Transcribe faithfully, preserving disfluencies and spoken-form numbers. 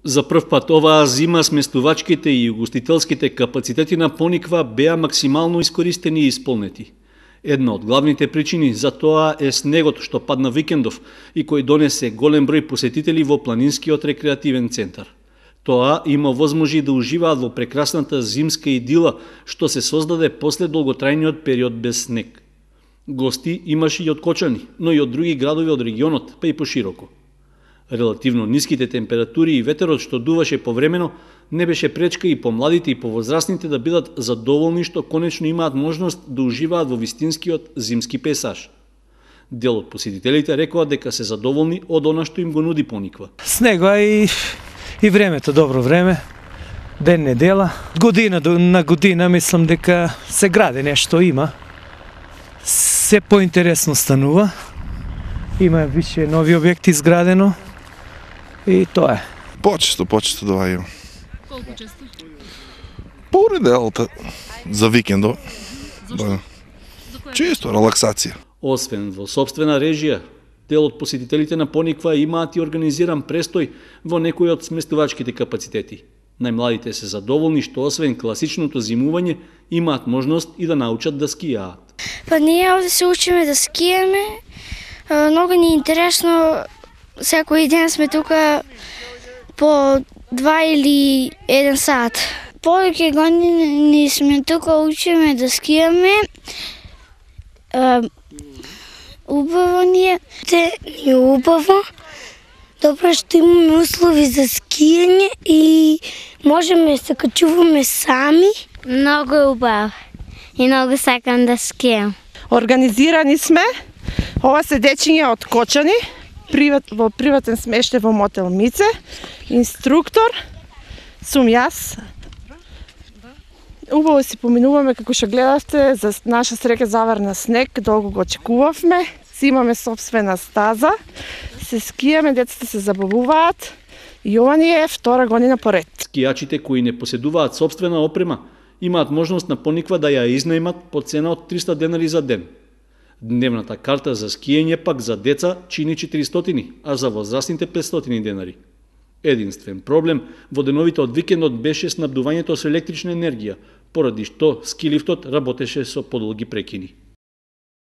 За прв пат оваа зима сместувачките и угостителските капацитети на Пониква беа максимално искористени и исполнети. Една од главните причини за тоа е снегот што падна викендов и кој донесе голем број посетители во планинскиот рекреативен центар. Тоа има возможи да уживаат во прекрасната зимска идила што се создаде после долготрајниот период без снег. Гости имаше и од Кочани, но и од други градови од регионот, па и пошироко. Релативно ниските температури и ветерот што дуваше повремено не беше пречка и помладите и повозрастните да бидат задоволни што конечно имаат можност да уживаат во вистинскиот зимски пейзаж. Дел од посетителите рекоа дека се задоволни од она што им го нуди Пониква. Снега и и времето добро време. Ден недела, година на година мислам дека се гради нешто има. Се поинтересно станува. Има више нови објекти изградено. И тоа е. Почесто, почесто доаѓам. Колку често? По неделата, за викендо. Зошто? Да. За која? Често, релаксација. Освен во собствена режија, дел од посетителите на Пониква имаат и организиран престој во некои од сместувачките капацитети. Најмладите се задоволни што освен класичното зимување имаат можност и да научат да скијаат. Па ние овде се учиме да скиеме. Многу ни е интересно. Секој ден сме тука по два или еден сат. Повеќе години сме тука, учиме да скијаме. Убаво ни е. Те ни е убаво. Добро што имаме услови за скијање и можеме да се качуваме сами. Многу е убаво и многу сакам да скијам. Организирани сме. Ова се дечиња од Кочани, приват, во приватен смештај во мотел Мице. Инструктор сум јас. Убаво си поминуваме, како што гледавте, за наша среќа заврна снег, долго го очекувавме. Си имаме собствена стаза, се скијаме, децата се забавуваат и ова ни е втора година поред. Скијачите кои не поседуваат собствена опрема имаат можност на Пониква да ја изнајмат по цена од триста денари за ден. Дневната карта за скијање пак за деца чини четиристотини, а за возрастните петстотини денари. Единствен проблем во деновите од викендот беше снабдувањето со електрична енергија, поради што скилифтот работеше со подолги прекини.